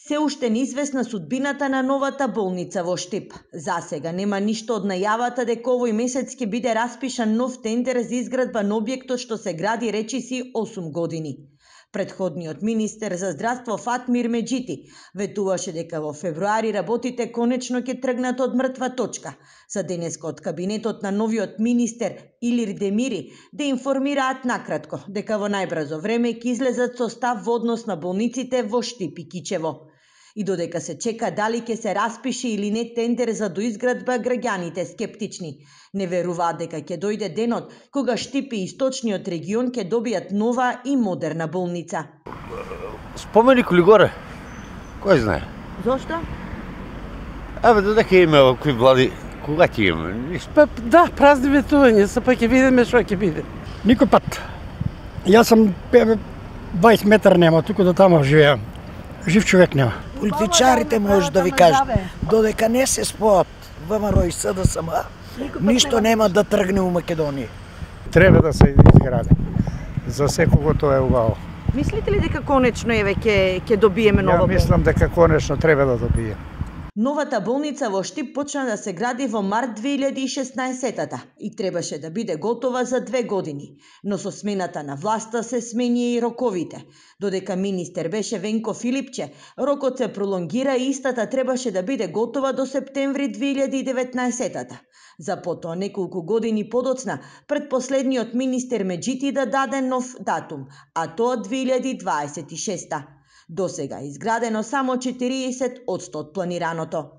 Се уште неизвестна судбината на новата болница во Штип. Засега нема ништо од најавата дека овој месец ќе биде распишан нов тендер за изградба на објектот што се гради речиси 8 години. Претходниот министер за здравство Фатмир Меджити ветуваше дека во февруари работите конечно ќе тргнат од мртва точка. За денеска од кабинетот на новиот министер Илир Демири да информираат накратко дека во најбрзо време ќе излезат со став во однос на болниците во Штип и Кичево. И додека се чека дали ќе се распише или не тендер за доизградба, граѓаните скептични. Не веруваат дека ќе дојде денот кога Штип и источниот регион ќе добијат нова и модерна болница. Споменик ли горе? Кој знае? Зошто? Додека има овакви влади, кога ќе има? Да, празни ветување, се па ќе видиме што ќе биде. Никој пат. Јас сум 20 метар нема, туку до тамо живеам. Жив човек нема. Политичарите може да ви кажат, додека не се споат ВМРО и СДСМ, ништо нема да тргне у Македонија. Треба да се изгради. За секого тоа е убаво. Мислите ли дека конечно ќе добиеме нова болница? Ја мислам дека конечно треба да добие. Новата болница во Штип почна да се гради во март 2016-та и требаше да биде готова за 2 години, но со смената на власта се смени и роковите. Додека министер беше Венко Филипче, рокот се пролонгира и истата требаше да биде готова до септември 2019-та. За потоа неколку години подоцна, предпоследниот министер Меджити да даде нов датум, а тоа 2026-та. Досега изградено само 40% од планираното.